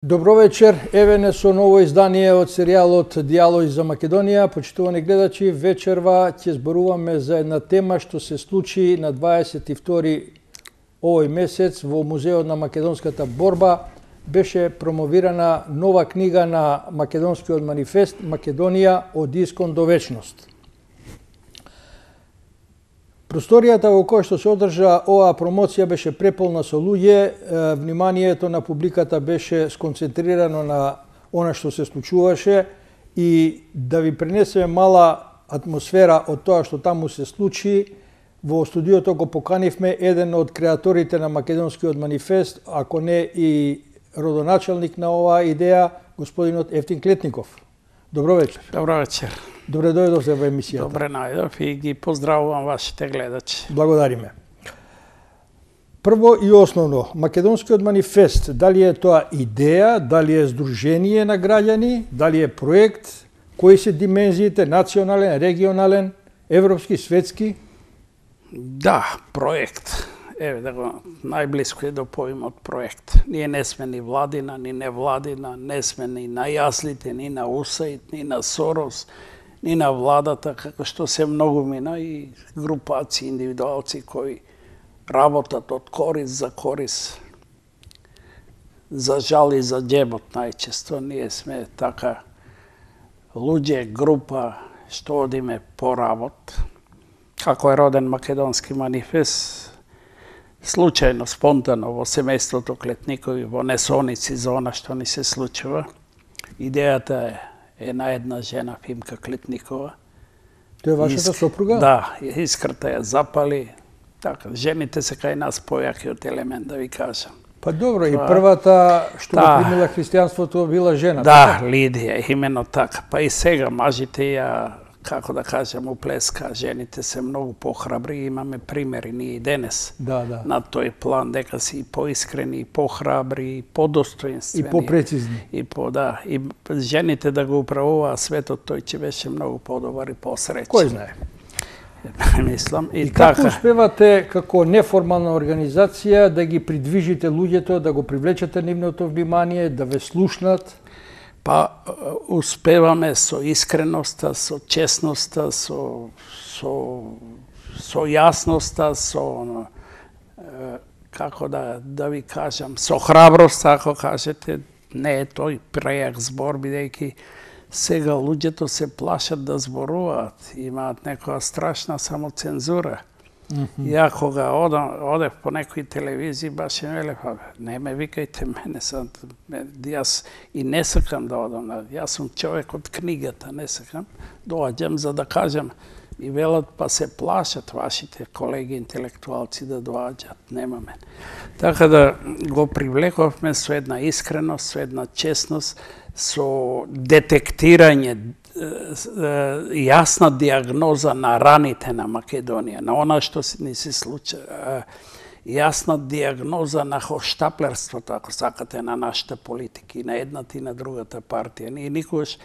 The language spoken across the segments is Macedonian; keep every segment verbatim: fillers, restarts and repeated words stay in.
Добро вечер, еве не со ново издание од серијалот Дијалози за Македонија. Почитувани гледачи, вечерва ќе зборуваме за една тема што се случи на дваесет и втори овој месец во Музеот на македонската борба. Беше промовирана нова книга на Македонскиот манифест Македонија од искон до вечност. Просторијата во која што се одржа оваа промоција беше преполна со луѓе, вниманието на публиката беше сконцентрирано на она што се случуваше и да ви пренесеме мала атмосфера од тоа што таму се случи. Во студиото го поканивме еден од креаторите на Македонскиот манифест, ако не и родоначалник на оваа идеја, господинот Евтим Клетников. Добро вечер. Добро вечер. Добре дојдовте во емисијата. Добре најдов и ги поздравувам вашите гледачи. Благодариме. Прво и основно, Македонскиот манифест, дали е тоа идеја, дали е здружение на граѓани, дали е проект, кои се димензиите, национален, регионален, европски, светски? Да, проект. Еве да го најблиско е до поимот проект. Ние не сме ни владина, ни невладина, не сме ни на јаслите, ни на УСАИД, ни на Сорос, ни на владата, како што се многу мина и групаци, индивидуалци кои работат од корис за корис, за жал и за џебот најчесто. Ние сме така луѓе, група, што одиме по работ. Како е роден Македонски манифест, случајно, спонтано, во семејството Клетникови, во несоници за она што ни се случува. Идејата е една една жена, Фимка Клетникова. Тоа е вашата сопруга? Да, искрата ја запали. Така, жените се кај нас појаки од елемент, да ви кажам. Па добро, и првата што да, го примила христијанството била жена. Да, така? Лидија, именно така. Па и сега мажите ја, како да кажем, уплеска. Жените се многу похрабри, имаме примери ние и денес. Да, да. На тој план, дека си и поискрени, и похрабри, и подостоинствени. И попрецизни. И по, да, и жените да го управува светот, тој ќе беше многу подобар и посреќен. Кој знае? Мислам. И, и така. Како успевате како неформална организација да ги придвижите луѓето, да го привлечете нивното внимание, да ве слушнат? Па успеваме со искреноста, со честноста, со со со јасноста, со како да да ви кажам, со храброст, ако кажете, не е тој прејак збор, бидејќи сега луѓето се плашат да зборуваат, имаат некоја страшна самоцензура. Mm -hmm. Ја кога одам, одев по некои телевизии, баш им велев, не ме викајте мене, сам, јас и не сакам да одам, јас сум човек од книгата, не сакам, доаѓам за да кажам, и велат, па се плашат вашите колеги интелектуалци да доаѓат, нема мене. Така да го привлековме со една искреност, со една честност, со детектирање, јасна диагноза на раните на Македонија, на она што ни се случи, јасна диагноза на хоштаплерството, ако сакате, на нашите политики, на едната и на другата партија. Ние никогаш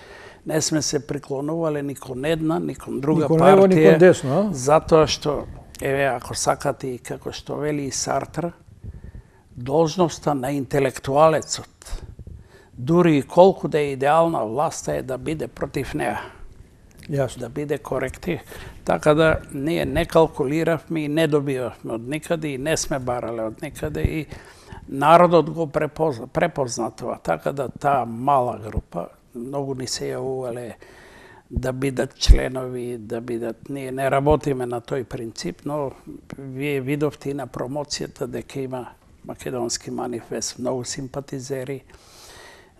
не сме се приклонувале ни кон една, ни кон друга никон партија. Никон лево, никон десно, а? Затоа што, еве, ако сакате и како што вели и Сартр, должноста на интелектуалецот, дури и колку да е идеална власта, е да биде против неа. Јасно. Да биде коректив. Така да ние не калкулиравме и не добивавме од никаде и не сме барале од никаде и народот го препозна, препозна това. Така да таа мала група, многу ни се јавувале да бидат членови, да бидат... Ние не работиме на тој принцип, но вие видовте и на промоцијата дека има Македонски манифест, многу симпатизери.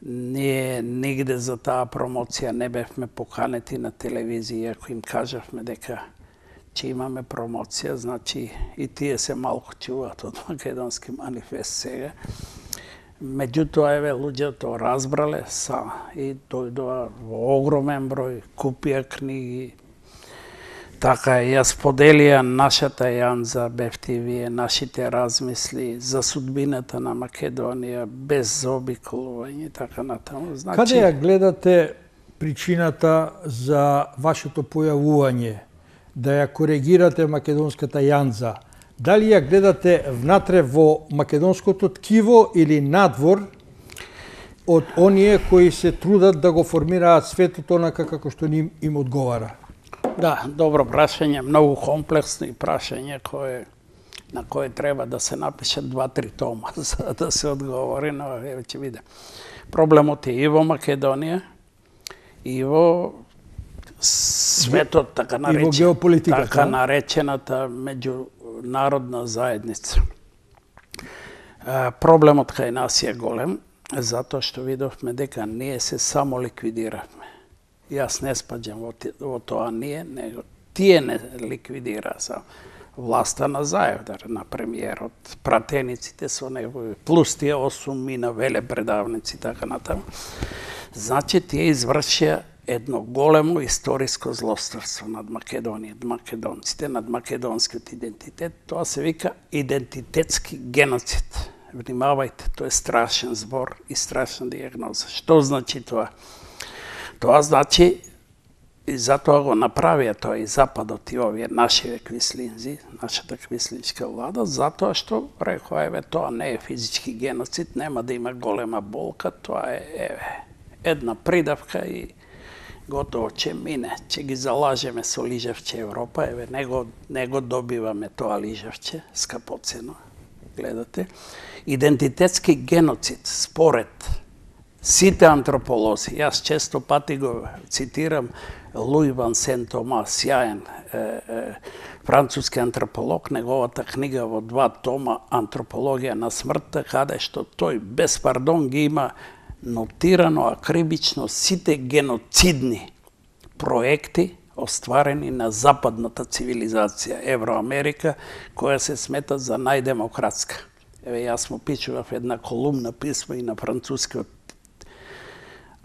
Ние нигде за таа промоција не бевме поканети на телевизија, ако им кажавме дека ќе имаме промоција, значи и тие се малку чуваат од Македонски манифест сега. Меѓутоа, еве, луѓето разбрале са и дојдоа во огромен број, купија книги. Така, јас поделија нашата јанза, бевте вие, нашите размисли за судбината на Македонија, без заобиколување и така натаму. Значи... Каде ја гледате причината за вашето појавување, да ја коригирате македонската јанза? Дали ја гледате внатре во македонското ткиво или надвор? од оние кои се трудат да го формираат светот онака како што им, им одговара? Да, добро прашање, многу комплексно и прашање кое на кое треба да се напишат два-три тома за да се одговори, но еве ќе биде. Проблемот е и во Македонија, и во светот, така наречен, така наречената меѓународна заедница. Проблемот кај нас е голем, затоа што видовме дека ние се само ликвидиравме. Јас не спаѓам во, во тоа ние, него тие не ликвидираа само. Власта на Заев, на премиерот, пратениците со негови, плюс тие осум мина велепредавници, така натаму. Значи, тие извршија едно големо историско злосторство над Македонија, над македонците, над македонскиот идентитет. Тоа се вика идентитетски геноцид. Внимавајте, тоа е страшен збор и страшна диагноза. Што значи тоа? Тоа значи, и затоа го направија тоа и Западот и овие нашиве квислинзи, нашата квислинска влада, затоа што рекоа, еве, тоа не е физички геноцид, нема да има голема болка, тоа е, еве, една придавка и готово ќе мине, ќе ги залажеме со лижевче Европа, еве, не го, не го добиваме тоа лижевче, скапоцено, гледате. Идентитетски геноцид, според сите антрополози, јас често пати го цитирам Луи Ван Сент-Тома, сјаен е, е, француски антрополог, неговата книга во два тома Антропологија на смртта, каде што тој без пардон ги има нотирано акрибично сите геноцидни проекти остварени на западната цивилизација, Евроамерика, која се смета за најдемократска. Еве, јас му пишував една колумна писмо и на францускиот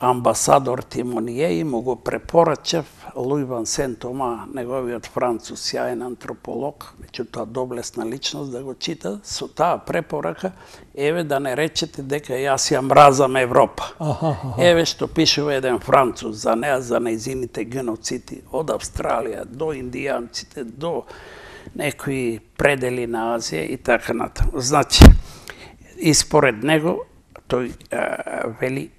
амбасадор Тимоние и му го препорачав Луи Ван Сент-Тома, неговиот француз, сјаен антрополог, меѓутоа доблесна личност, да го чита со таа препорака, еве да не речете дека јас ја мразам Европа. Аха, аха. Еве што пишува еден француз за неа, за нејзините геноциди од Австралија до индијанците, до некои предели на Азија и така натаму. Значи, и според него, тој а, вели,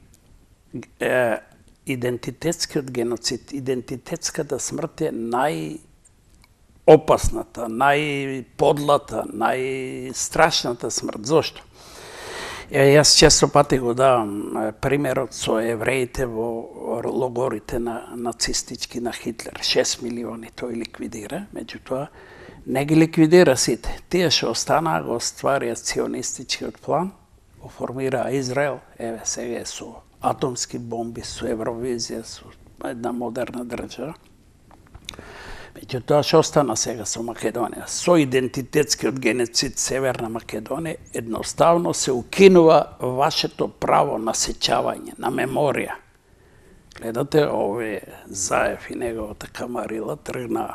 идентитетскиот геноцид, идентитетската смрт е најопасната, најподлата, најстрашната смрт. Зошто? Е, јас често пати го давам примерот со евреите во логорите на нацистички на Хитлер. шест милиони тој ликвидира, меѓутоа не ги ликвидира сите. Тие што останаа го остварија ционистичкиот план, го формираа Израел, еве сега е со атомски бомби, со Евровизија, со една модерна држава. Меѓутоа, што остана сега со Македонија? Со идентитетскиот геноцид Северна Македонија едноставно се укинува вашето право на сеќавање, на меморија. Гледате, овие Заев и неговата камарила тргна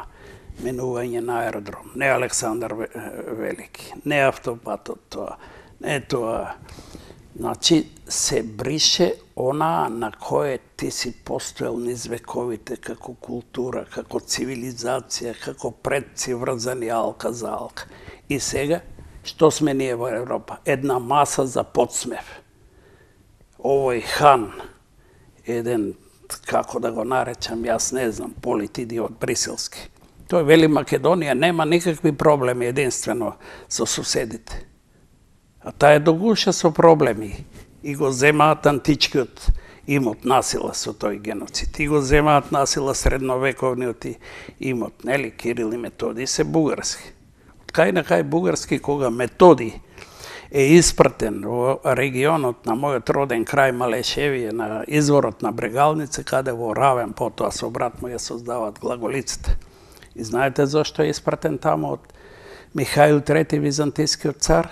менување на аеродром. Не Александар Велики, не автопатот тоа, не тоа. Значи, се брише она на кое ти си постоел низ вековите како култура, како цивилизација, како предци врзани алка за алка. И сега, што сме ние во Европа? Една маса за подсмев. Овој хан, еден, како да го наречам, јас не знам, политидиот бриселски. Тој вели Македонија нема никакви проблеми единствено со соседите. А таа е догуша со проблеми и го земаат античкиот имот насила со тој геноцид. И го земаат насила средновековниот имот, нели, Кирил и Методи се бугарски. Од кај на кај бугарски, кога Методи е испратен во регионот на мојот роден крај Малешевије, на изворот на Брегалница, каде во Равен потоа со брат му ја создаваат глаголиците. И знаете зошто е испратен таму од Михаил трети византискиот цар?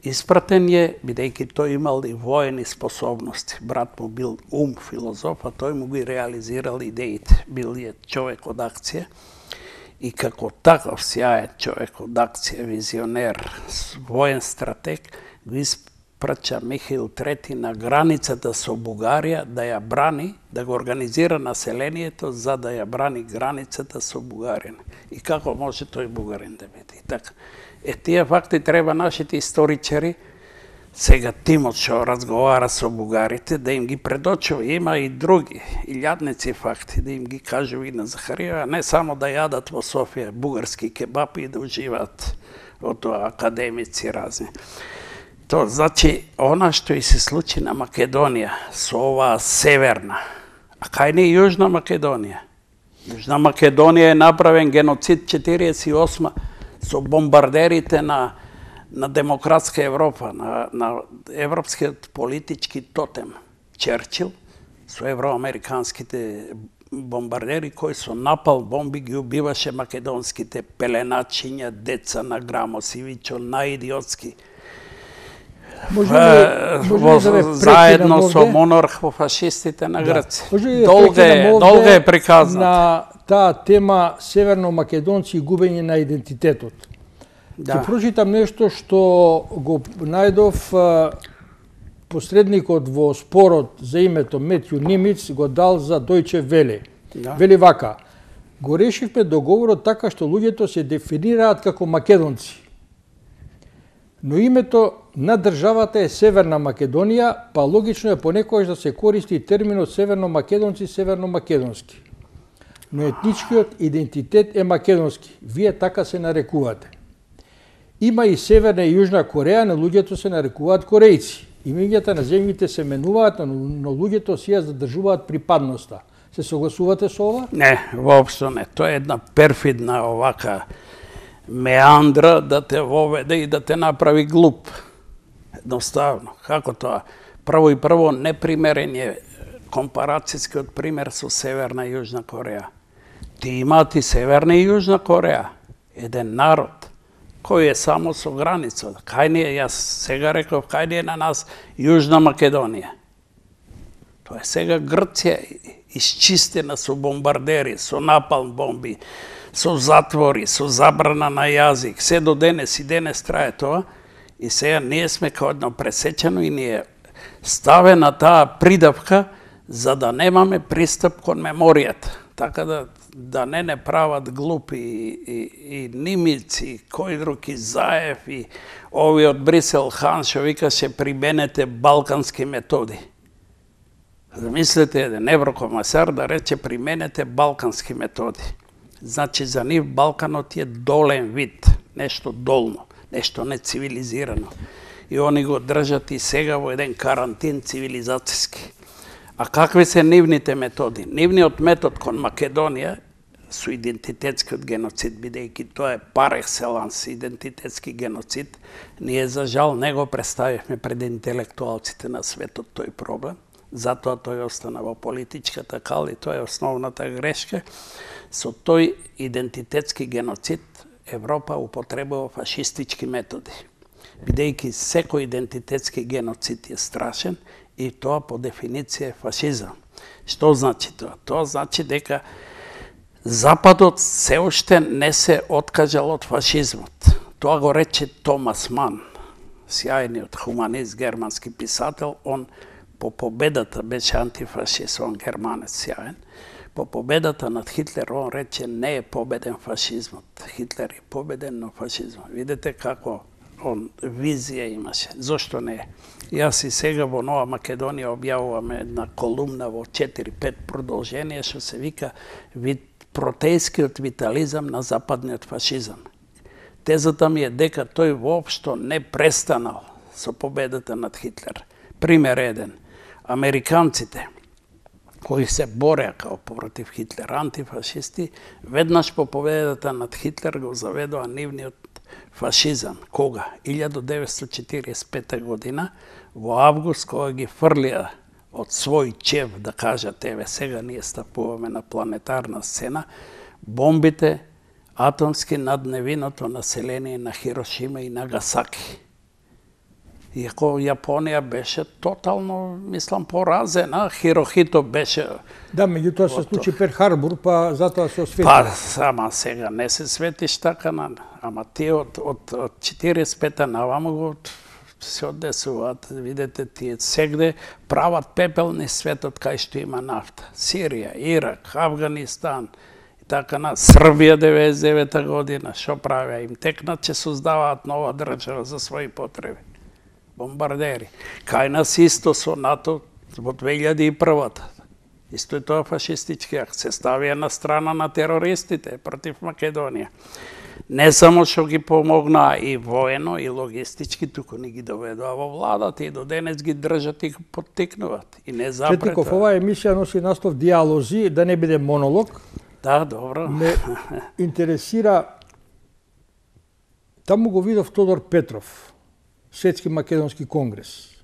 Испратен е, бидејќи тој имал и воени способности. Брат му бил ум, филозоф, а тој му ги реализирал идеите. Бил е човек од акција. И како таков сјаен човек од акција, визионер, воен стратег, го испрача Михаил трети на границата со Бугарија да ја брани, да го организира населението за да ја брани границата со Бугарија. И како може тој бугарин да биде? И така. Е, тие факти треба нашите историчари сега тимот што разговара со бугарите, да им ги предочува. Има и други, илјадници факти, да им ги кажува и на Захариева, не само да јадат во Софија бугарски кебапи и да уживаат од тоа академици разни. То значи, она што и се случи на Македонија, со оваа северна, а кај не Јужна Македонија? Јужна Македонија е направен геноцид четириесет и осма со бомбардерите на на демократска Европа, на, на европскиот политички тотем Черчил, со евроамериканските бомбардери кои со напал бомби ги убиваше македонските пеленачиња, деца на Грамосивичо, наидиотски. Заедно со монарх во фашистите на Грција. Да. Долга е, долга е приказната. На таа тема северно-македонци и губење на идентитетот. Да. Ќе прочитам нешто што го најдов посредникот во спорот за името Метју Нимиц го дал за Дојче Веле. Да. Вели вака: го решивме договорот така што луѓето се дефинираат како македонци. Но името на државата е Северна Македонија, па логично е понекогаш да се користи терминот северно-македонци, северно-македонски. Но етничкиот идентитет е македонски. Вие така се нарекувате. Има и Северна и Јужна Кореја, но луѓето се нарекуваат корејци. Имињата на земјите се менуваат, но луѓето си ја задржуваат припадноста. Се согласувате со ова? Не, воопшто не. Тоа е една перфидна овака меандра да те воведе и да те направи глуп. Едноставно. Како тоа? Прво и прво непримерен е компарацијскиот пример со Северна и Јужна Кореја. Ти имаат и Северна и Јужна Кореја. Еден народ кој е само со граница. Кај ни е, јас сега реков, кај ни е на нас Јужна Македонија. Тоа е сега Грција исчистена со бомбардери, со напалм бомби, со затвори, со забрана на јазик. Се до денес и денес трае тоа. И сега ние сме као едно пресечено и ни е ставена таа придавка за да немаме пристап кон меморијата. Така да да не не прават глупи и, и, и Нимици, кој друг и Заев и ови од Брисел Хан што викаше применете балкански методи. Замислете еден еврокомасар да рече применете балкански методи. Значи за нив Балканот е долен вид, нешто долно, нешто нецивилизирано. И они го држат и сега во еден карантин цивилизацијски. А какви се нивните методи? Нивниот метод кон Македонија со идентитетскиот геноцид, бидејќи тоа е пар екселанс идентитетски геноцид, ние за жал не го представивме пред интелектуалците на светот тој проблем, затоа тој остана во политичката кал и тоа е основната грешка. Со тој идентитетски геноцид Европа употребува фашистички методи, бидејќи секој идентитетски геноцид е страшен и тоа по дефиниција е фашизам. Што значи тоа? Тоа значи дека Западот се уште не се откажал од фашизмот. Тоа го рече Томас Ман, сјајниот хуманист, германски писател. Он по победата беше антифашист, он германец сјаен. По победата над Хитлер, он рече не е победен фашизмот. Хитлер е победен, но фашизмот. Видете како он визија имаше. Зошто не е? Јас и сега во Нова Македонија објавуваме една колумна во четири-пет продолжение што се вика вид протејскиот витализам на западниот фашизам. Тезата ми е дека тој воопшто не престанал со победата над Хитлер. Пример еден. Американците кои се бореа као против Хитлер, антифашисти, веднаш по победата над Хитлер го заведоа нивниот фашизам. Кога? илјада деветстотини четириесет и пета година, во август, кога ги фрлија од свој чев, да кажат, еве, сега ние стапуваме на планетарна сцена, бомбите атомски над невиното население на Хирошима и Нагасаки. Иако Јапонија беше тотално, мислам, поразена, Хирохито беше... Да, меѓутоа се случи Перл Харбор, па затоа се освети. Па, сама сега не се светиш така, ама тие од, од, од четириесет и пета наваму го се одесуваат, видите, тие сегде прават пепелни светот кај што има нафта. Сирија, Ирак, Авганистан, и така на Србија деветдесет и девета година, што правеа? Им текнат, че создаваат нова држава за своји потреби. бомбардери. Кај нас исто со НАТО во две илјади и прва. Исто е тоа фашистички акт. Се ставија на страна на терористите против Македонија. Не само што ги помогнаа и воено, и логистички, туку ни ги доведоа во владата и до денес ги држат и поттикнуваат. И не запрета. Четиков, оваа емисија носи наслов Диалози, да не биде монолог. Да, добро. Ме интересира, таму го видов Тодор Петров, Светски македонски конгрес.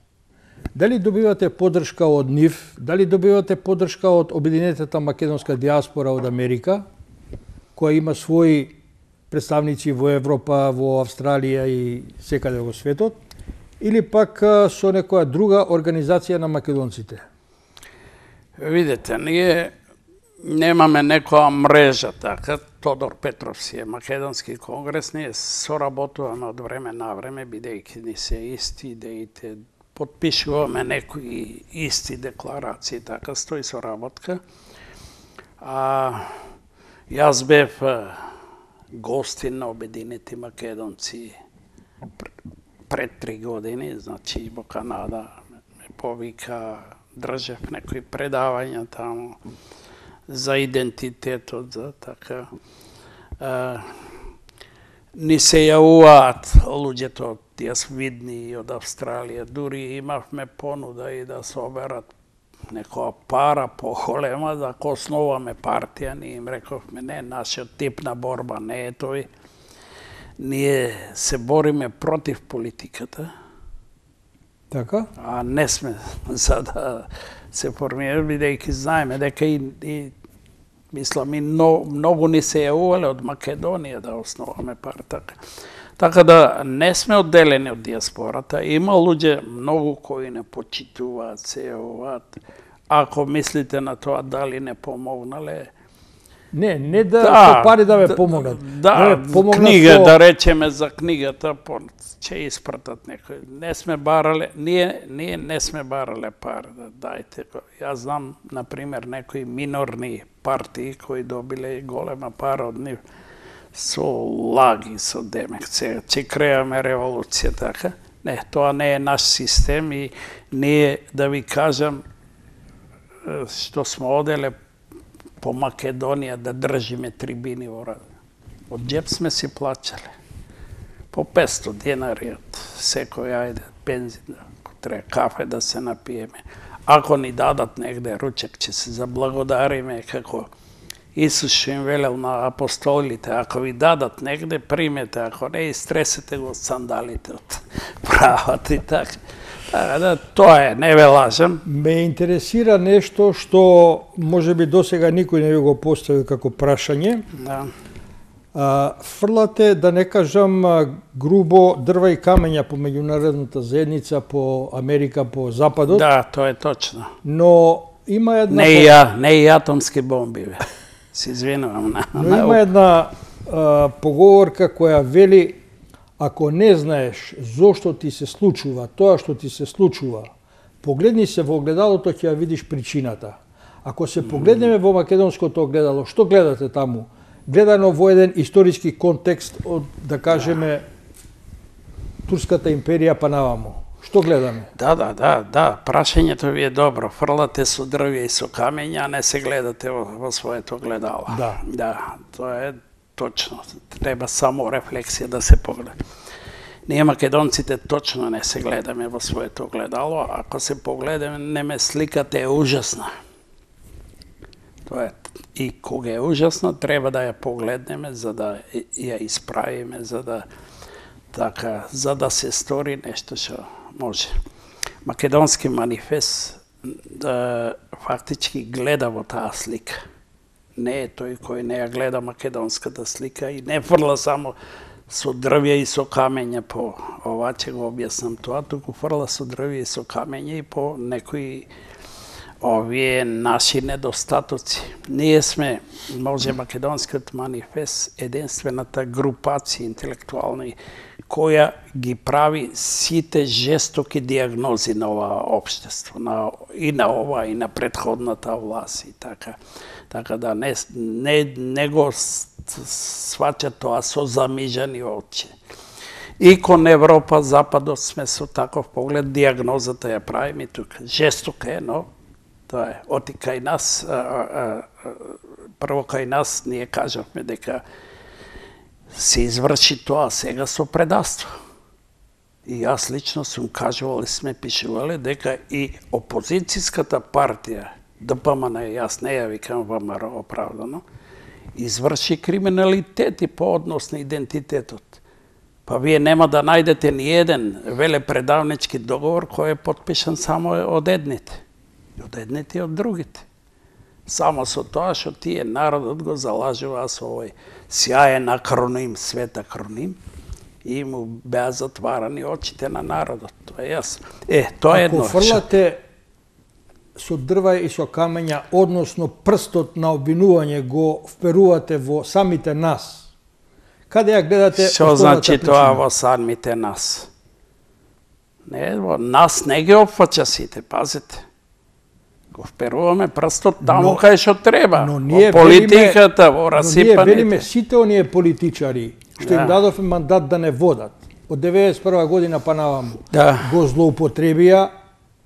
Дали добивате поддршка од нив? Дали добивате поддршка од Обединетата македонска диаспора од Америка, која има своји представници во Европа, во Австралија и секаде во светот? Или пак со некоја друга организација на македонците? Видете, ние немаме некоја мрежа, така. Тодор Петров си е македонски конгрес, ние соработуваме од време на време, бидејќи ни се исти идеите, подпишуваме некои исти декларации, така стои соработка. А, јас бев гостин на Обединети македонци пред три години, значи во Канада ме повика, држев некои предавања таму за идентитетот, за така. А, ни се јавуваат луѓето од јас видни и од Австралија, дури имавме понуда и да соберат некоја пара поголема да ако основаме партија, ние им рековме не, нашиот тип на борба не е тој. Ние се бориме против политиката. Така? А не сме за да се формира, бидејќи знаеме дека и, и мислам и но, многу ни се јавувале од Македонија да основаме партија. Така да не сме одделени од диаспората. Има луѓе многу кои не почитуваат, се јавуваат. Ако мислите на тоа дали не помогнале, Не, не да, да пари да ме да, помогнат. Да, да помогнат книга, со... да речеме за книгата, ќе испратат некој. Не сме барале, ние, ние не сме барале пар, да дајте го. Јас знам, например, некои минорни партии кои добиле голема пара од нив со лаги, со демек, сега ќе креаме револуција, така. Не, тоа не е наш систем и ние, да ви кажам, што сме оделе по Македонија да држиме трибини во рад. Од джеп сме си плачале. По петсто денари од секој ајде бензин, ако треба кафе да се напиеме. Ако ни дадат негде ручек, ќе се заблагодариме, како Исус што им велел на апостолите, ако ви дадат негде, примете, ако не, истресете го од сандалите од правата и така. Да, тоа е, не ве лажам. Ме интересира нешто што можеби досега никој не ви го поставил како прашање. Да. А, фрлате, да не кажам грубо, дрва и камења по меѓународната заедница, по Америка, по Западот. Да, тоа е точно. Но има една... Не и ја, не и атомски бомби, бе. Се извинувам. На, Но има една а, поговорка која вели: ако не знаеш зошто ти се случува тоа што ти се случува, погледни се во огледалото, ќе ја видиш причината. Ако се погледнеме во македонското огледало, што гледате таму? Гледано во еден историски контекст од, да кажеме, Турската империја па наваму. Што гледаме? Да, да, да, да, прашањето ви е добро. Фрлате со дрвја и со камења, а не се гледате во, во своето огледало. Да. Да, тоа е точно. Треба само рефлексија да се погледа. Ние македонците точно не се гледаме во своето огледало. Ако се погледаме, сликата е ужасна. Тоа е. И кога е ужасна, треба да ја погледнеме за да ја исправиме, за да така, за да се стори нешто што може. Македонски манифест да фактички гледа во таа слика. Не е тој кој не ја гледа македонската слика и не фрла само со дрвја и со камења по ова, ќе го објаснам тоа, туку фрла со дрвја и со камења и по некои овие наши недостатоци. Ние сме, може македонскиот манифест, единствената групација интелектуални која ги прави сите жестоки диагнози на ова општество, на, и на ова, и на претходната власт и така. Така да не, не, не го сваќа тоа со замижани очи. И кон Европа, Западот сме со таков поглед, диагнозата ја правиме тука. Жестока е, но тоа е. Оти кај нас, а, а, а, прво кај нас ние кажавме дека се изврши тоа сега со предавство. И јас лично сум кажувал и сме пишувале дека и опозицијската партија, Д П М Н, јас не ја викам В М Р оправдано, изврши криминалитети по однос на идентитетот. Па вие нема да најдете ни еден велепредавнички договор кој е потпишан само од едните. Од едните и од другите. Само со тоа што тие народот го залажува со овој сјаен акроним, свет акроним, и му беа затварани очите на народот. Тоа е јасно. Е, тоа е едно. Ако фрлате со дрва и со камења, односно прстот на обвинување го вперувате во самите нас, каде ја гледате Што значи тоа во самите нас? Не, во нас не ги опфаќа сите, пазите. Го вперуваме прстот таму кај што треба. Во политиката, во расипаните. Но ние велиме сите оние политичари што им дадовме мандат да не водат, од деветдесет и прва година па наваму, го злоупотребија,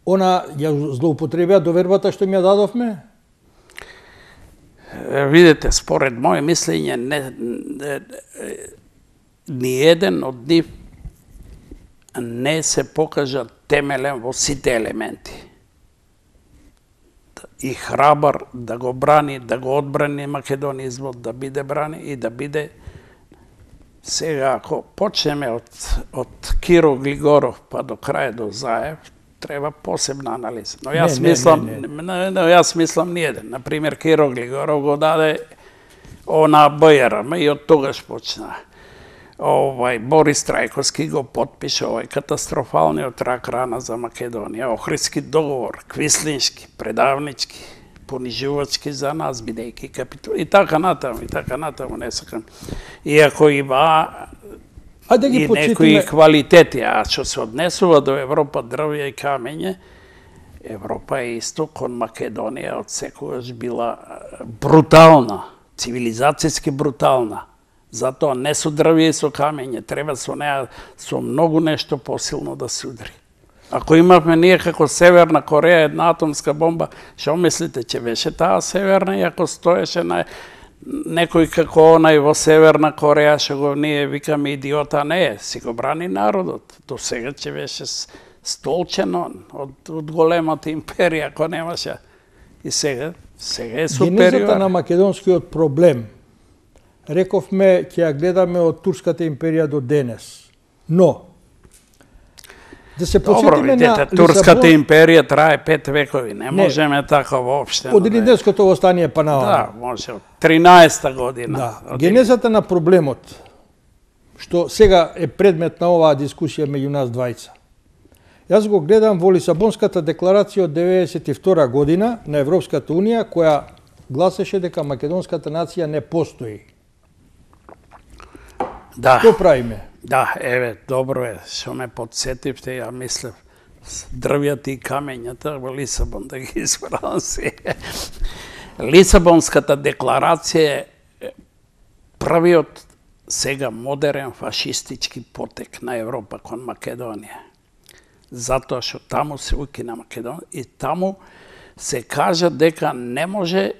она ја злоупотребија довербата што им ја дадовме? Видите, според моје мислење, не, не, ни еден од нив не се покажа темелен во сите елементи. И храбар да го брани, да го одбрани македонизмот, да биде брани и да биде. Сега, ако почнеме од, од Киро Глигоров па до крај до Заев, треба посебна анализа. Но јас не, мислам, не, не, не. Но јас мислам ниеден. Например, Киро Глигоров го даде она Б Ј Р М и од тогаш почна. Овај Борис Трајковски го потпише овај катастрофалниот рак рана за Македонија, Охридски договор, квислиншки, предавнички, понижувачки за нас, бидејќи капитул. И така натаму, и така натаму, не сакам. Иако има а да ги и почитаме... некои квалитети, а што се однесува до Европа, дрвја и камење, Европа е исто кон Македонија од секогаш била брутална, цивилизацијски брутална. Затоа не со дрвја и со камење, треба со неа со многу нешто посилно да се удари. Ако имавме ние како Северна Кореја една атомска бомба, што мислите, че беше таа Северна и ако стоеше на некој како онај во Северна Кореја, што го ние викаме идиота, не е, си го брани народот. До сега че беше столчено од, од големата империја, ако немаше. И сега, сега е супериор. Генезата на македонскиот проблем, рековме, ќе ја гледаме од Турската империја до денес. Но, да се подсетиме на Турската империја трае пет векови, не, не можеме така воопште. Од Илинденското востание па наваму. Да, може, од тринаесета година. Да. Од... Генезата на проблемот, што сега е предмет на оваа дискусија меѓу нас двајца. Јас го гледам во Лисабонската декларација од деветдесет и втора година на Европската унија, која гласеше дека македонската нација не постои. Да. Што правиме? Да, еве, добро е, што ме подсетивте, ја мислев, дрвјата и камењата во Лисабон да ги избрам се. Лисабонската декларација е првиот сега модерен фашистички потек на Европа кон Македонија. Затоа што таму се укина Македонија и таму се кажа дека не може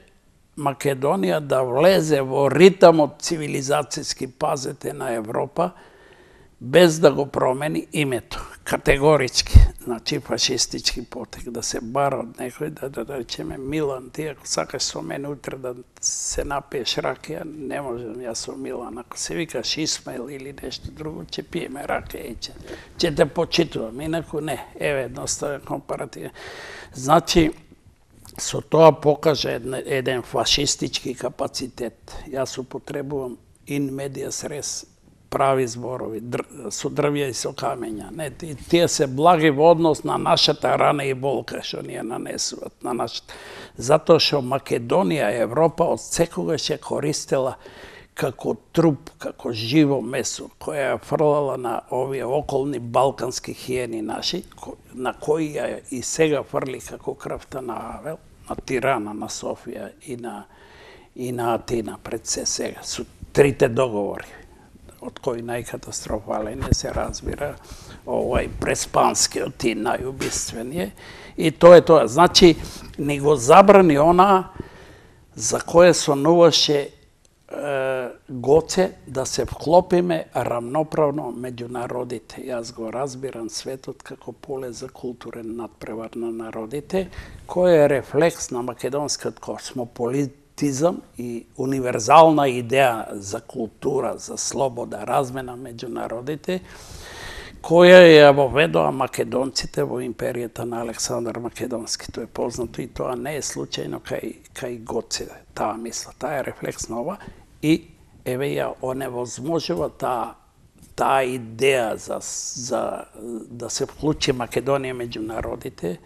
Македонија да влезе во ритамот цивилизацијски, пазете, на Европа, без да го промени името, категорички, значи фашистички потек, да се бара од некој, да, да, да речеме, Милан, ти ако сакаш со мене утре да се напиеш ракија, не можем јас со Милан, ако се викаш Исмаил или нешто друго, ќе пиеме ракија и ќе, ќе те почитувам, инаку не, еве, едноставен компаративен. Значи, со тоа покажа еден фашистички капацитет. Јас употребувам in medias res, прави зборови, со дрвја и со камења. Не, тие се благи во однос на нашата рана и болка што ни ја нанесуваат на нашата. Затоа што Македонија, Европа од секогаш ја користела како труп, како живо месо, која ја фрлала на овие околни балкански хиени наши, на кои ја и сега фрли како крвта на Авел, на Тирана, на Софија и на, и на Атина пред се сега, со трите договори. од кој најкатастрофален е, се разбира, овај преспанскиот и најубиствениот. И тоа е тоа. Значи, ни го забрани она за кое сонуваше Гоце да се вклопиме равноправно меѓу народите. Јас го разбирам светот како поле за културен надпревар на народите, кој е рефлекс на македонскиот космополитизам и универзална идеја за култура, за слобода, размена меѓу народите, која ја воведоа македонците во империјата на Александар Македонски. Тоа е познато и тоа не е случајно кај, кај Гоце, таа мисла. Таа е рефлекс на ова и еве ја оневозможува таа таа идеја за, за да се вклучи Македонија меѓу народите.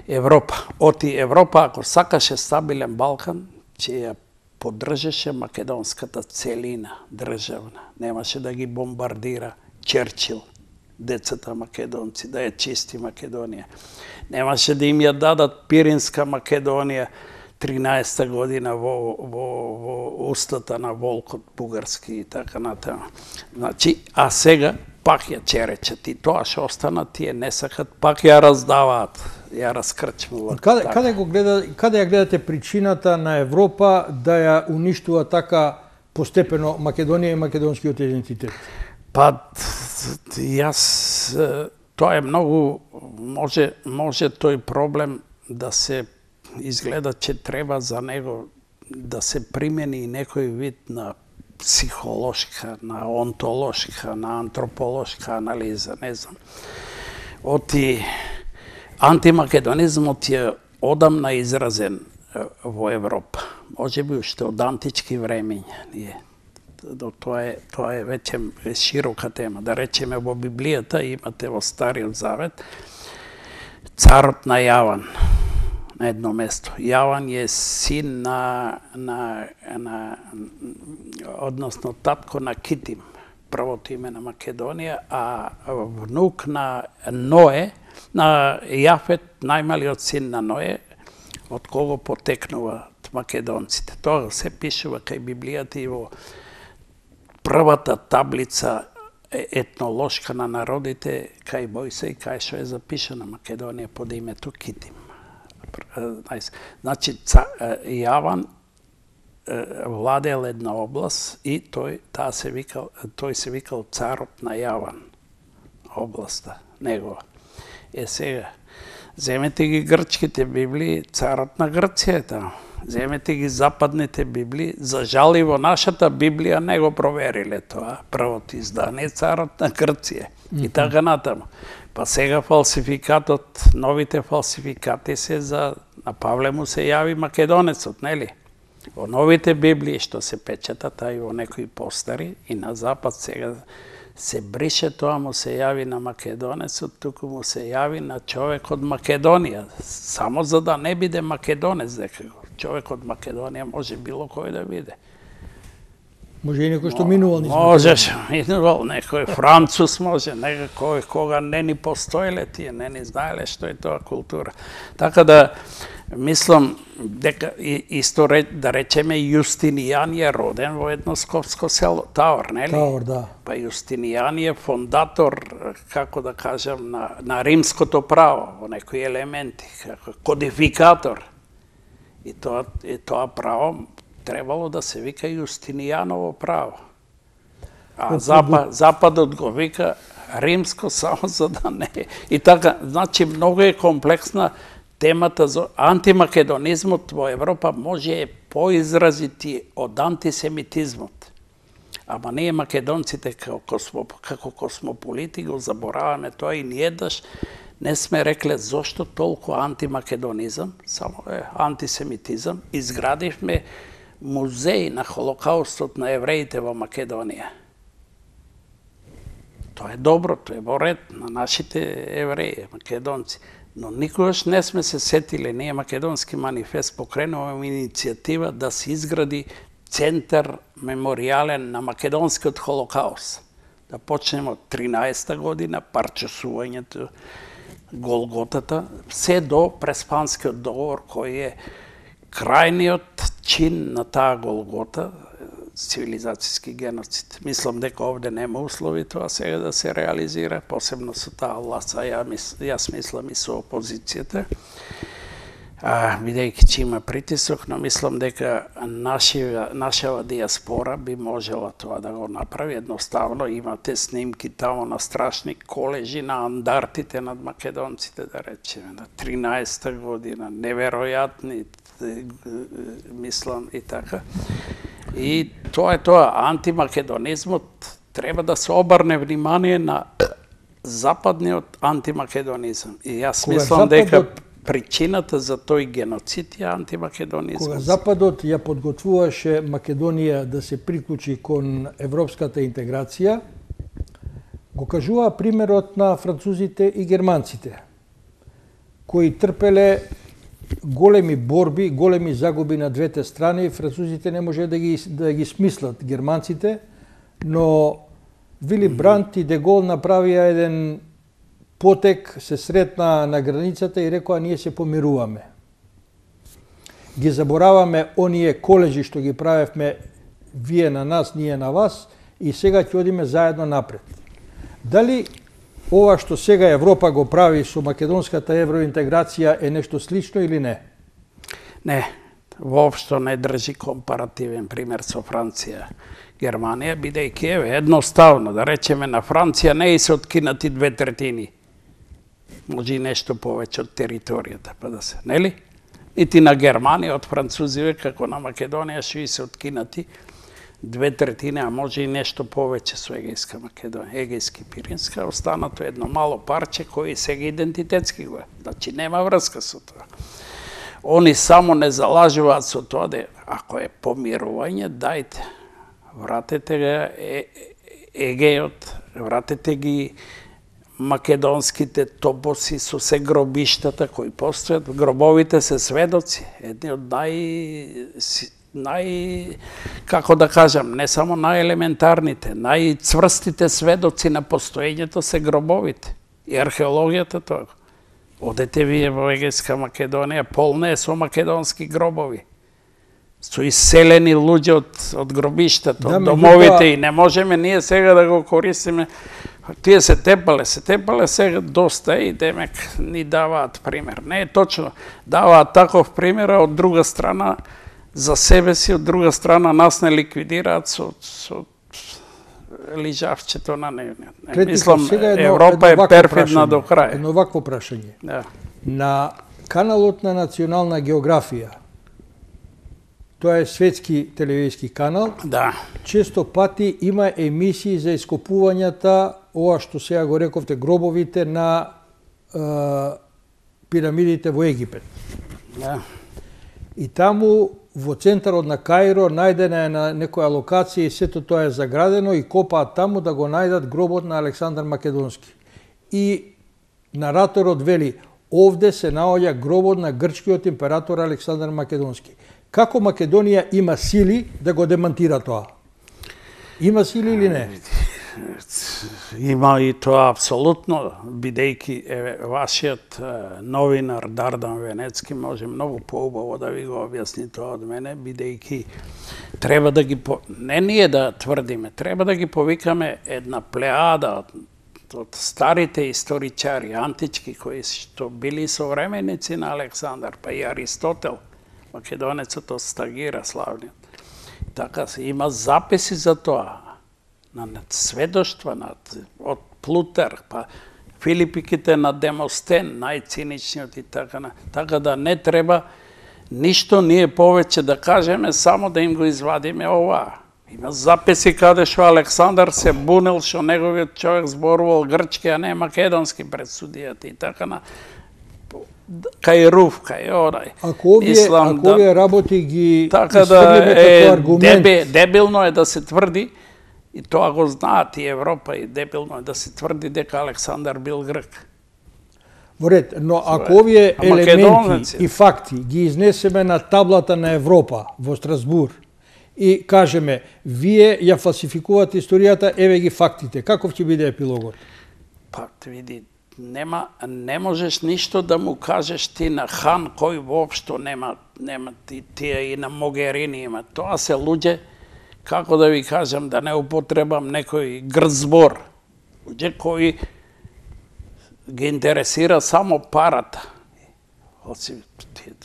Европа. Оти Европа, ако сакаше стабилен Балкан, ќе ја поддржеше македонската целина државна. Немаше да ги бомбардира Черчил, децата македонци, да ја чисти Македонија. Немаше да им ја дадат Пиринска Македонија тринаесетта година во, во, во устата на волкот бугарски и така натаму. Значи, а сега пак ја черечат и тоа што останат, тие не сакат, пак ја раздаваат, ја раскрчмуваат. Каде, каде, го гледа, каде ја гледате причината на Европа да ја уништува така постепено Македонија и македонскиот идентитет? Па, јас, тоа е многу, може, може тој проблем да се изгледа, че треба за него да се примени и некој вид на психолошка, на онтолошка, на антрополошка анализа, не знам. Оти антимакедонизмот е одамна изразен во Европа. Може би уште од антички времења. Тоа е, тоа е веќе широка тема. Да речеме, во Библијата имате во Стариот Завет царот на Јаван на едно место. Јаван е син на, на, на односно татко на Китим, првото име на Македонија, а внук на Ное, на Јафет, најмалиот син на Ное, од кого потекнуваат македонците. Тоа се пишува кај Библијата и во првата таблица етнолошка на народите кај Мојсей, кај што е запишана Македонија под името Китим. Значи, Јаван владел една област и тој, таа се викал, тој се викал царот на Јаван, областа негова. Е сега, земете ги грчките библии, царот на Грција е таму. Земете ги западните библии, за жал и во нашата Библија не го провериле тоа, првото издание, царот на Грција. И така натаму. Па сега фалсификатот, новите фалсификати се за, на Павле му се јави македонецот, нели? Во новите библии што се печатат, а и во некои постари, и на запад сега се брише тоа, му се јави на македонецот, туку му се јави на човек од Македонија, само за да не биде македонец, дека човек од Македонија може било кој да биде. Може и некој што минувал низ Македонија. Можеш, минувал некој француз може, некој кога не ни постоеле тие, не ни знаеле што е тоа култура. Така да, мислам, дека исто да речеме Јустинијан е роден во едно скопско село, Таор, нели? Таор, да. Па Јустинијан е фондатор, како да кажам, на, на римското право, во некои елементи, како кодификатор. И тоа, и тоа право требало да се вика Јустинијаново право. А запад, Западот го вика римско само за да не. И така, значи, многу е комплексна темата за антимакедонизмот во Европа, може е поизразити од антисемитизмот. Ама ние македонците како, космо, како космополити го забораваме тоа и ни еднаш не сме рекле зошто толку антимакедонизам, само е антисемитизам. Изградивме музеј на Холокаустот на евреите во Македонија. Тоа е добро, тоа е во ред на нашите евреи, македонци. Но никогаш не сме се сетиле, ние Македонски манифест покренуваме иницијатива да се изгради центар меморијален на македонскиот Холокауст. Да почнеме од тринаесетта година, парчесувањето, Голготата, се до Преспанскиот договор, кој е крајниот чин на таа Голгота, цивилизацијски геноцид. Мислам дека овде нема услови тоа сега да се реализира, посебно со таа власт, а ја мис, јас мислам и со опозицијата. А, бидејќи че има притисок, но мислам дека нашива, нашава диаспора би можела тоа да го направи. Едноставно имате снимки тамо на страшни колежи на андартите над македонците, да речеме, на тринаесетта година, неверојатни, мислам и така. И тоа е тоа, антимакедонизмот треба да се обрне внимание на западниот антимакедонизам. И јас Кога мислам Западот... дека причината за тој геноцид е антимакедонизмот. Кога Западот ја подготвуваше Македонија да се приклучи кон европската интеграција, го кажува примерот на французите и германците, кои трпеле големи борби, големи загуби на двете страни. Французите не може да ги, да ги смислат германците, но Вили Брант и Де Гол направија еден потек, се сретна на границата и рекоа ние се помируваме. Ги забораваме оние колежи што ги правевме вие на нас, ние на вас и сега ќе одиме заедно напред. Дали ова што сега Европа го прави со македонската евроинтеграција е нешто слично или не? Не, воопшто не држи компаративен пример со Франција, Германија, бидејќи еве едноставно да речеме на Франција не и се откинати две третини. Може и нешто повеќе од територијата, па да се, нели? Ити на Германија од французиве како на Македонија што и се откинати две третини, а може и нешто повеќе со Егејска Македонија, Егејски Пиринска, останато едно мало парче кој сега идентитетски го е. Значи нема врска со тоа. Они само не залажуваат со тоа да ако е помирување, дајте, вратете го Егејот, вратете ги македонските топоси со се гробиштата кои постојат. Гробовите се сведоци, едни од нај нај, како да кажам, не само најелементарните, најцврстите сведоци на постоењето се гробовите. И археологијата тоа. Одете вие во Егејска Македонија, полна е со македонски гробови. Со иселени луѓе од, од гробиштата, од домовите и не можеме ние сега да го користиме. Тие се тепале, се тепале сега доста и демек ни даваат пример. Не е точно, даваат таков пример, а од друга страна за себе си, од друга страна нас не ликвидираат со, со лижавчето на нивниот. Мислам, Европа е перфидна до крај. Едно вакво прашање. Да. На каналот на Национална географија, тоа е светски телевизиски канал, да. Често пати има емисии за ископувањата, ова што сега го рековте, гробовите на е, пирамидите во Египет. Да. И таму во центарот на Каиро најдена е на некоја локација и сето тоа е заградено и копаат таму да го најдат гробот на Александар Македонски. И нараторот вели, овде се наоѓа гробот на грчкиот император Александар Македонски. Како Македонија има сили да го демантира тоа? Има сили или не? Има и тоа апсолутно, бидејќи е, вашиот е, новинар Дардан Венецки може многу поубаво да ви го објасни тоа од мене, бидејќи треба да ги по... не ние да тврдиме, треба да ги повикаме една плеада од, од старите историчари антички кои што били современици на Александар, па и Аристотел, македонецот од Стагира славниот. Така се има записи за тоа. На сведоштва од Плутер, па Филипиките на Демостен, најциничниот и така на. Така да не треба ништо ние повеќе да кажеме, само да им го извадиме ова. Има записи каде што Александар се бунел, што неговиот човек зборувал грчки, а не македонски пред судијата и така на. Кај Руф, кај онај. Ако овие, Ислам, ако да, овие работи ги така да е, дебе, дебилно е да се тврди, и тоа го знаат и Европа, и дебилно е да се тврди дека Александар бил грк. Во ред, но ако овие елементи и факти ги изнесеме на таблата на Европа во Страсбур и кажеме, вие ја фалсификувате историјата, еве ги фактите, каков ќе биде епилогот? Па, види, нема, не можеш ништо да му кажеш ти на Хан, кој воопшто нема, нема ти, тие и на Могерини има. Тоа се луѓе како да ви кажам, да не употребам некој грд збор, кој ги интересира само парата.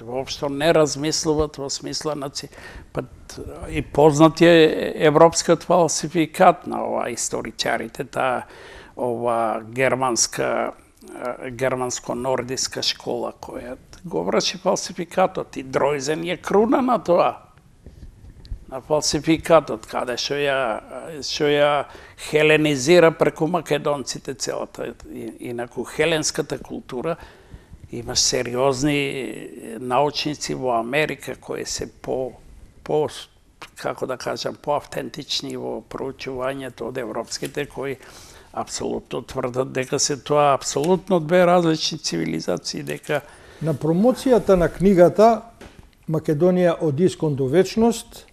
Воопшто не размислуват во смисла на па и познат е европскиот фалсификат на ова историчарите, таа ова германска германско-нордиска школа која го врши фалсификатот и Дройзен е круна на тоа, на фалсификатот, каде што ја што ја хеленизира преку македонците целата. Инаку хеленската култура има сериозни научници во Америка кои се по по како да кажам поавтентични во проучувањето од европските, кои апсолутно тврдат дека се тоа апсолутно две различни цивилизации, дека на промоцијата на книгата Македонија од искон до вечност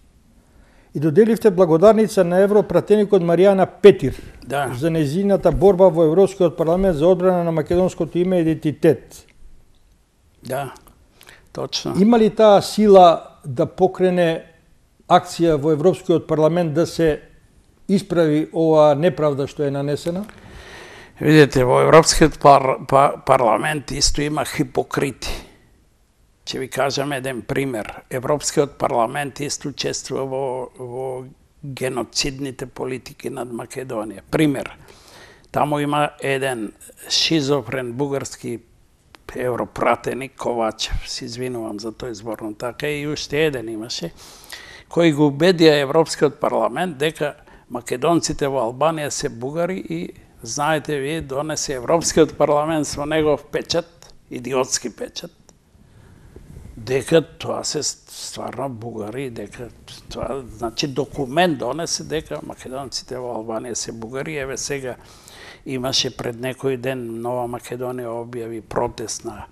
и доделивте благодарница на европратеникот Маријана Петир, да, за нејзината борба во Европскиот парламент за одбрана на македонското име и идентитет. Да, точно. Има ли таа сила да покрене акција во Европскиот парламент да се исправи оваа неправда што е нанесена? Видете, во Европскиот пар, пар, парламент исто има хипокрити. Ќе ви кажам еден пример. Европскиот парламент исто учествува во, во геноцидните политики над Македонија. Пример. Таму има еден шизофрен бугарски европратеник Ковачев, се извинувам за тој збор, но така и уште еден имаше, кој го убедија Европскиот парламент дека македонците во Албанија се бугари и, знаете вие, донесе Европскиот парламент со негов печат, идиотски печат, дека тоа се стварно бугари, дека тоа, значи документ донесе дека македонците во Албанија се бугари. Еве сега имаше пред некој ден Нова Македонија објави протест на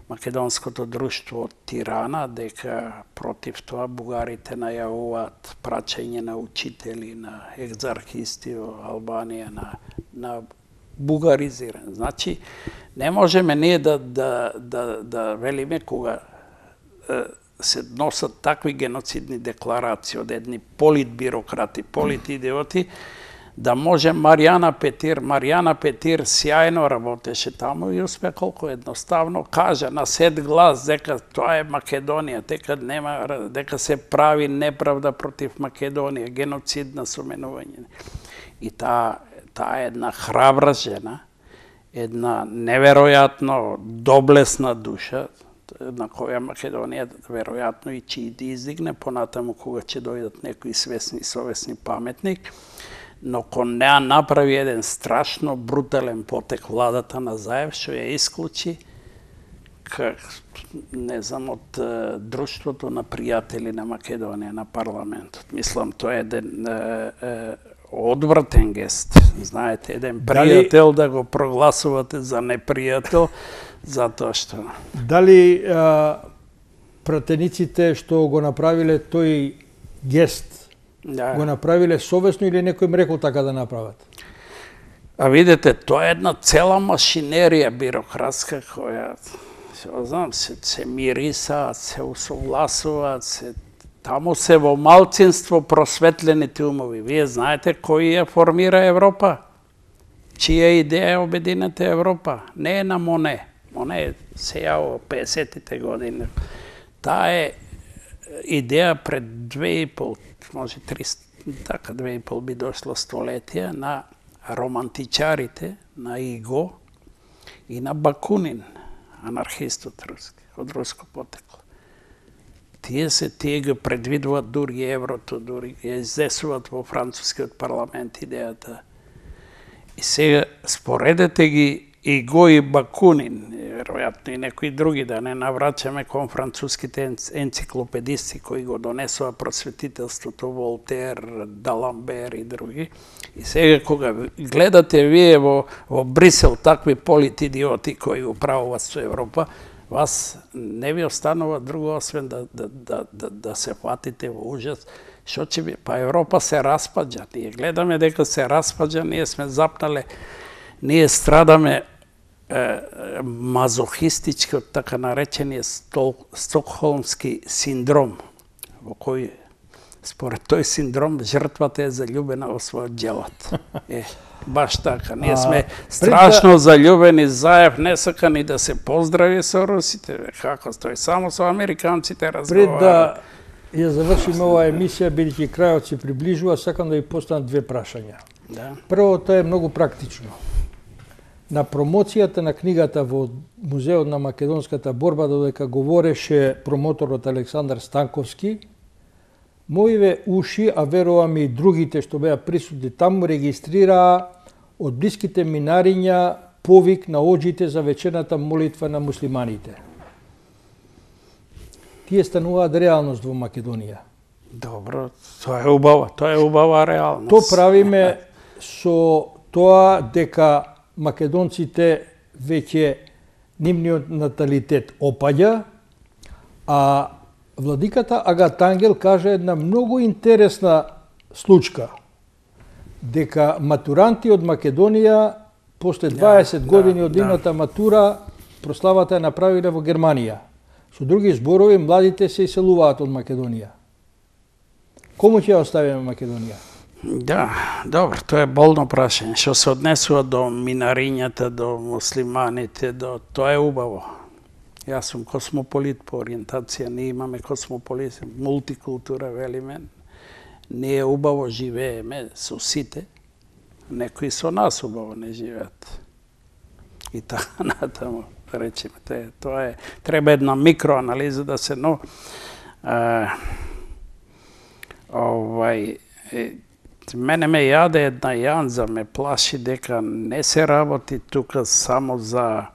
македонското друштво од Тирана, дека против тоа бугарите најавуваат праќање на учители, на екзархисти во Албанија, на, на бугаризиран. Значи, не можеме ние да, да, да, да велиме кога е, се носат такви геноцидни декларации од едни политбирократи, политидиоти, да може Маријана Петир, Маријана Петир сјајно работеше таму и успе колку едноставно кажа на сет глас дека тоа е Македонија, дека нема, дека се прави неправда против Македонија, геноцидна соменување. И таа таа една храбра жена, една неверојатно доблесна душа, на која Македонија веројатно и ќе издигне понатаму кога ќе дојдат некои свесни, совесни паметник, но кон неа направи еден страшно брутален потек владата на Заев, што ја исклучи как, не знам, од е, друштвото на пријатели на Македонија, на парламентот. Мислам, тоа е еден е, е, одвратен гест. Знаете, еден пријател дали, да го прогласувате за непријател, затоа што... Дали а, пратениците што го направиле тој гест, да, го направиле совесно или некој им рекол така да направат? А видите, тоа е една цела машинерија бирократска која, се знам, се, се мирисаат, се усогласуваат, се, таму се во малцинство просветлените умови. Вие знаете кој ја формира Европа? Чија идеја е обединета Европа? Не е на Моне. Моне се јаво песетите години. Таа е идеја пред две и пол, може триста, така две и пол би дошло столетија, на романтичарите, на Иго и на Бакунин, анархистот руски, од руско потекло. Тие се, тие го предвидуваат дури еврото, дури ја изнесуваат во францускиот парламент идејата. И сега споредете ги Иго и Бакунин, веројатно и некои други, да не навраќаме кон француските енциклопедисти кои го донесува просветителството, Волтер, Даламбер и други. И сега кога гледате вие во, во Брисел такви политидиоти кои управуваат со Европа, вас не ви останува друго освен да, да, да, да, да се фатите во ужас. Што ќе би? Па Европа се распаѓа. Ние гледаме дека се распаѓа, ние сме запнале, ние страдаме мазохистички од така наречениот стокхолмски синдром, во кој според тој синдром, жртвата е заљубена во својот џелот. Е, баш така. Ние сме страшно заљубени, Заев не сака ни да се поздрави со русите. Како тој само со американците разговара. Пред да ја завршиме оваа емисија, бидејќи крајот се приближува, сакам да ви поставам две прашања. Да. Првото е многу практично. На промоцијата на книгата во Музеот на македонската борба, додека говореше промоторот Александар Станковски, моиве уши, а верувам и другите што беа присутни таму, регистрираа од блиските минариња повик на оџите за вечерната молитва на муслиманите. Тие стануваат реалност во Македонија. Добро, тоа е убава, тоа е убава реалност. То правиме со тоа дека македонците веќе нивниот наталитет опаѓа, а владиката Агат Ангел каже една многу интересна случка, дека матуранти од Македонија после дваесет години од нивната матура прославата ја направиле во Германија. Со други зборови, младите се иселуваат од Македонија. Кому ќе оставиме Македонија? Да, добро, тоа е болно прашање. Што се однесува до минарињата, до муслиманите, до тоа е убаво. Јас сум космополит по ориентација, ние имаме космополит, мултикултура, велиме. Ние убаво живееме со сите, некои со нас убаво не живеат. И така натаму, да речеме, тоа е, треба една микроанализа да се, но а, овај, мене ме јаде една јанза, ме плаши дека не се работи тука само за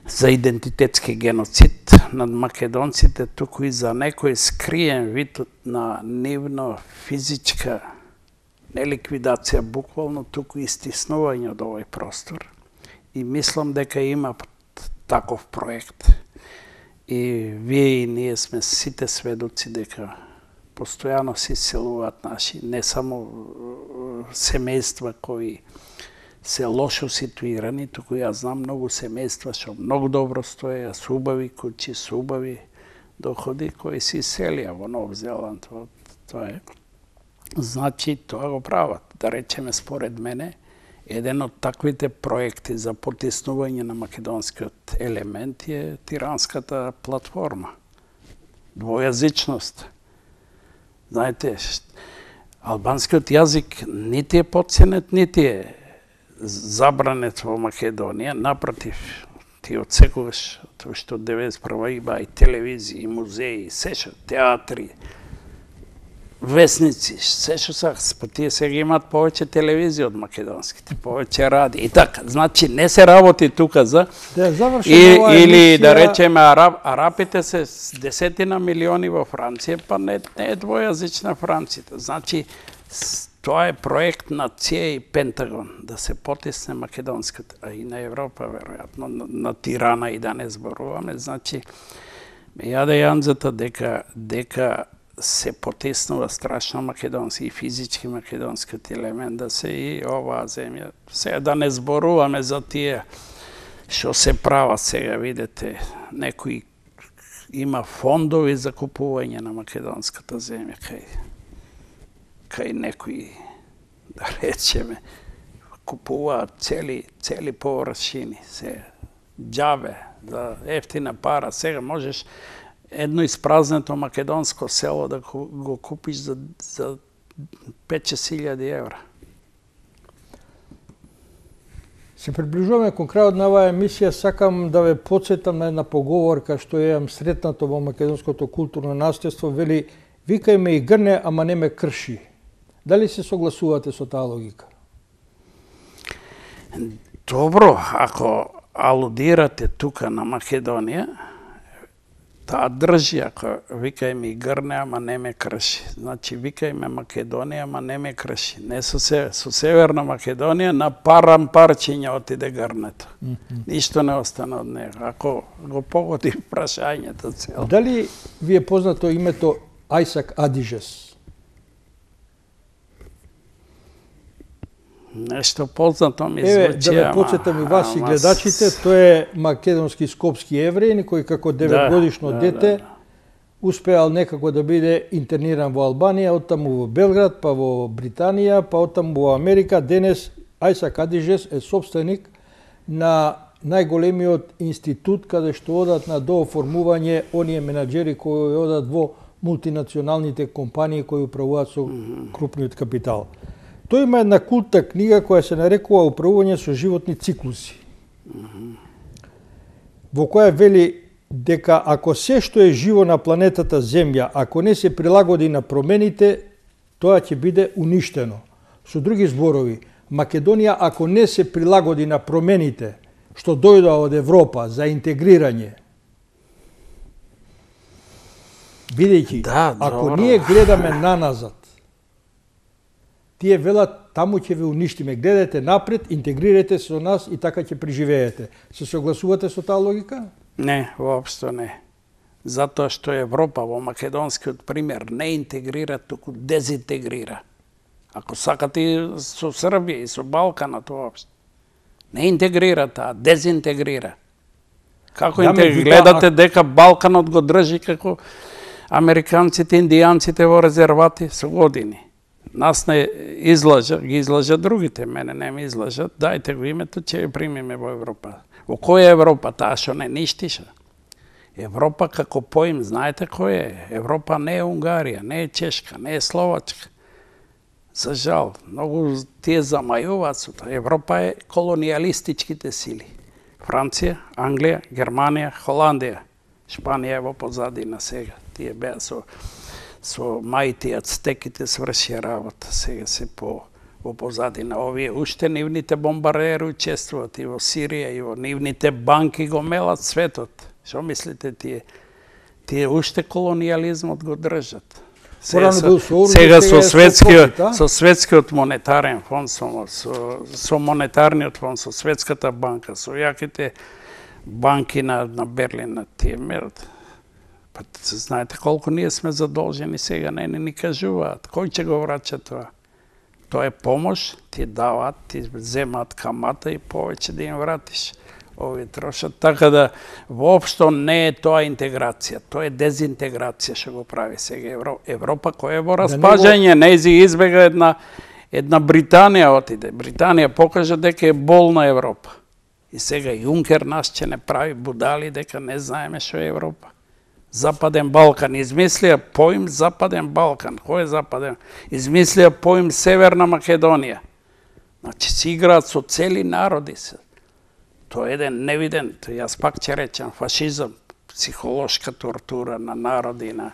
за идентитетски геноцид над македонците, туку и за некој скриен вид на нивно физичка не ликвидација, буквално, туку и стиснување од овој простор. И мислам дека има таков проект. И вие и ние сме сите сведоци дека постојано се иселуваат наши, не само семејства кои се лошо ситуирани, туку јас знам многу семејства што многу добро стоја, со убави куќи, со убави доходи, кои се иселија во Нов Зеланд. Тоа е. Значи, тоа го прават. Да речеме, според мене, еден од таквите проекти за потиснување на македонскиот елемент е тиранската платформа. Двојазичност. Знаете, албанскиот јазик нити е потценет, нити е забранет во Македонија. Напротив, ти од секогаш, тоа што од деветдесет и прва има и телевизии, и музеи, и се што, театри, весници, се што са, па тие сега имаат повеќе телевизија од македонските, повеќе ради. И така, значи не се работи тука за... Да, завршим и, ова или емисија... да речеме, араб, арапите се десетина милиони во Франција, па не, не е двојазична Франција. Значи, тоа е проект на ЦИЕ и Пентагон, да се потисне македонската, а и на Европа, веројатно, на, на Тирана и да не зборуваме. Значи, ме јаде јанзата дека, дека се потиснува страшно македонски и физички македонскиот елемент, да се и оваа земја. Сега да не зборуваме за тие што се права сега, видите, некои има фондови за купување на македонската земја, кај кај некои, да речеме, купуваат цели, цели површини, се џабе, за ефтина пара. Сега можеш едно испразнето македонско село да го купиш за, за пет-шест илјади евра. Се приближуваме кон крајот на оваа емисија, сакам да ве потсетам на една поговорка што ја сретнато во македонското културно наследство, вели: викај ме и грне, ама не ме крши. Дали се согласувате со таа логика? Добро, ако алудирате тука на Македонија, таа држи, ако викај ми грне, ама не ме крши. Значи, викај ме Македонија, ама не ме крши. Не со, се, со Северна Македонија на парам парчиња отиде грнето. Mm -hmm. Ништо не остана од него. Ако го погоди прашањето цело. Дали ви е познато името Ајсак Адижес? Нешто познато ми Еве, звучи, да ве потсетам и вас и гледачите, тој е македонски скопски евреин, кој како деветгодишно да, дете да, успеал некако да биде интерниран во Албанија, оттаму во Белград, па во Британија, па оттаму во Америка. Денес Ајса Кадижес е собственик на најголемиот институт каде што одат на дооформување оние менаџери кои одат во мултинационалните компании кои управуваат со крупниот капитал. Тој има една култна книга која се нарекува Управување со животни циклуси, во која вели дека ако се што е живо на планетата Земја, ако не се прилагоди на промените, тоа ќе биде уништено. Со други зборови, Македонија ако не се прилагоди на промените што дојдоа од Европа за интегрирање, бидејќи, да, ако ние гледаме наназад, тие велат таму ќе ве уништиме, гледате напред, интегрирате се со нас и така ќе преживеете. Се согласувате со таа логика? Не, воопшто не. Затоа што Европа во македонскиот пример не интегрира, туку дезинтегрира. Ако сакате и со Србија и со Балканот воопшто. Не интегрира таа, дезинтегрира. Како да, интегрира? Гледате дека Балканот го држи како американците, индијанците во резервати со години. Нас не излажа, ги излажа другите, мене не ми излажат. Дајте го името, ќе ја примиме во Европа. Во која Европа? Таа што не ништиша. Европа како поим, знаете кој е? Европа не е Унгарија, не е Чешка, не е Словачка. За жал, многу тие замајуваат со тоа. Европа е колонијалистичките сили. Франција, Англија, Германија, Холандија, Шпанија е во позадина сега. Тие беа со со мајти ацтеките свршија работа, сега се по во позадина. Овие уште нивните бомбардери учествуваат и во Сирија, и во нивните банки го мелат светот. Што мислите тие? Тие уште колонијализмот го држат. Сега со, сега со светскиот со светскиот монетарен фонд, со, со, со монетарниот фонд, со светската банка, со јаките банки на, на Берлин, на тие мерат. Па знаете колку ние сме задолжени сега, не, не ни кажуваат. Кој ќе го врача тоа? Тоа е помош, ти даваат, ти земаат камата и повеќе да им вратиш. Овие трошат, така да воопшто не е тоа интеграција, тоа е дезинтеграција што го прави сега Европа. Европа која е во распаѓање, нејзи избега една една Британија отиде. Британија покажа дека е болна Европа. И сега Јункер нас ќе не прави будали дека не знаеме што е Европа. Западен Балкан измислија поим Западен Балкан. Кој е Западен? Измислија поим Северна Македонија. Значи си играат со цели народи се. Тоа е еден невиден, јас пак ќе речам, фашизам, психолошка тортура на народи, на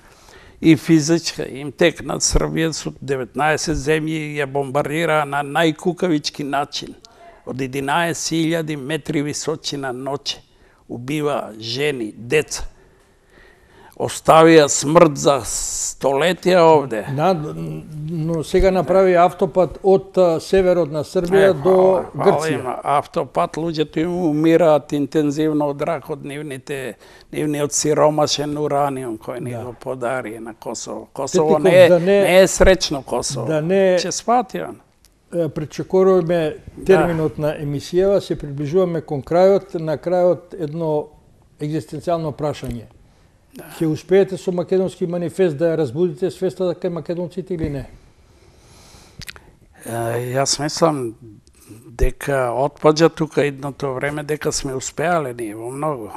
и физичка. Им текнат Србија со деветнаесет земји ја бомбардира на најкукавички начин. Од единаесет илјади метри височина ноќе. Убива жени, деца. Оставија смрт за столетија овде. На, но сега направи автопат од северот на Србија е, до Грција. Има автопат, луѓето им умираат интензивно од рак од нивните, нивниот сиромашен ураниум кој ни да. Го подари на Косово. Косово не е, да не, не е сречно Косово. Да не, Че свати он. Пречекоруваме терминот да. На емисијава, се приближуваме кон крајот, на крајот едно екзистенцијално прашање. Да. Ќе успеете со македонски манифест да ја разбудите свеста кај македонците или не? Јас мислам дека отпаѓа тука едното време дека сме успеале ние во многу.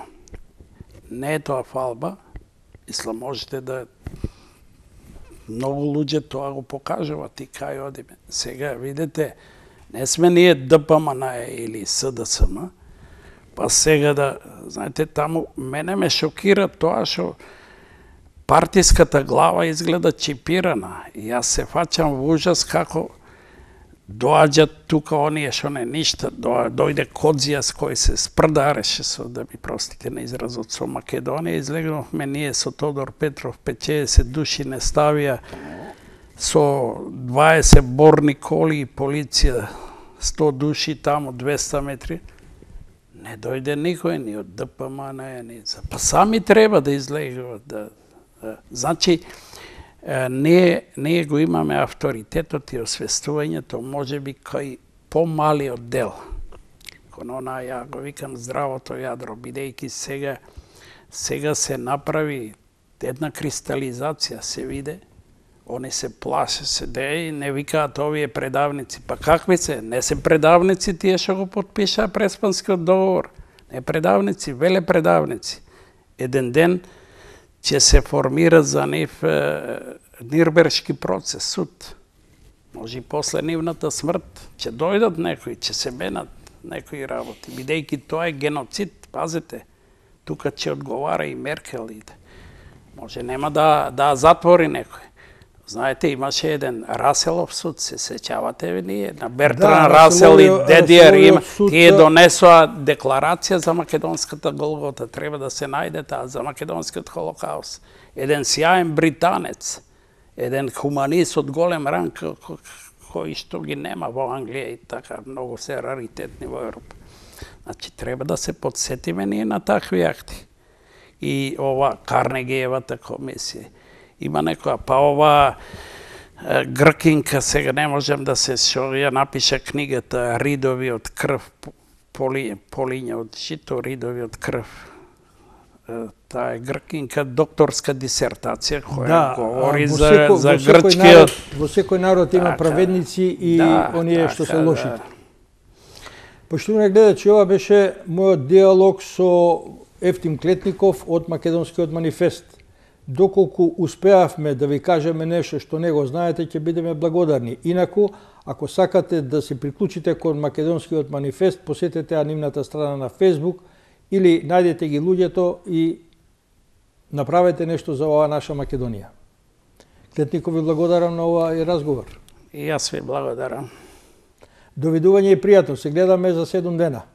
Не е тоа фалба. Мислам можете да многу луѓе тоа го покажуваат и кај одиме. Сега видите, не сме ние ДПМН или СДСМ. Па сега да, знаете, таму мене ме шокира тоа што партиската глава изгледа чипирана. И јас се фаќам во ужас како доаѓат тука оние што не ништа, дојде Кодзијас кој се спрдареше со, да ми простите на изразот, со Македонија, излегнавме ние со Тодор Петров, петдесет души не ставија, со дваесет борни коли и полиција, сто души таму, двеста метри. Не дојде никој, ни од ДПМН, ни за... Па сами треба да излегуват. Да, да. Значи, ние, ние го имаме авторитетот и освестувањето, може би кај помалиот дел. Кон она, ја го викам здравото јадро, бидејќи сега, сега се направи една кристализација се виде. Они се плаше, се де и не викаат овие предавници. Па какви се? Не се предавници тие што го потпишаа Преспанскиот договор. Не предавници, веле предавници. Еден ден ќе се формира за нив е, Нирбергшки процес, суд. Може и после нивната смрт ќе дојдат некои, ќе се менат некои работи. Бидејќи тоа е геноцид, пазете. Тука ќе одговара и Меркел. Може нема да, да затвори некој. Знаете, имаше еден Раселов суд, се сеќавате ви ние, на Бертран да, Расел и Дедиер, има, тие донесоа декларација за македонската Голгота, треба да се најде таа, за македонскиот холокаус. Еден сјаен британец, еден хуманист од голем ранг, кој што ги нема во Англија и така, многу се раритетни во Европа. Значи, треба да се подсетиме ние на такви акти. И ова Карнегиевата комисија. Има некоја, па ова е, гркинка, сега не можем да се, што ја напиша книгата Ридови од крв, поли, полиња од жито, Ридови од крв. Е, таа е гркинка, докторска дисертација, која да, говори за, секо, за грчкиот... Во секој народ има така, праведници и да, оние така, што се лошите. Да. Поштовани гледачи, ова беше мојот диалог со Ефтим Клетников од Македонскиот манифест. Доколку успеавме да ви кажеме нешто што не го знаете, ќе бидеме благодарни. Инаку, ако сакате да се приклучите кон Македонскиот манифест, посетете нивната страна на Facebook или најдете ги луѓето и направете нешто за оваа наша Македонија. Клетников, ви благодарам на овој разговор. И јас ви благодарам. Довидување и пријатно. Се гледаме за седум дена.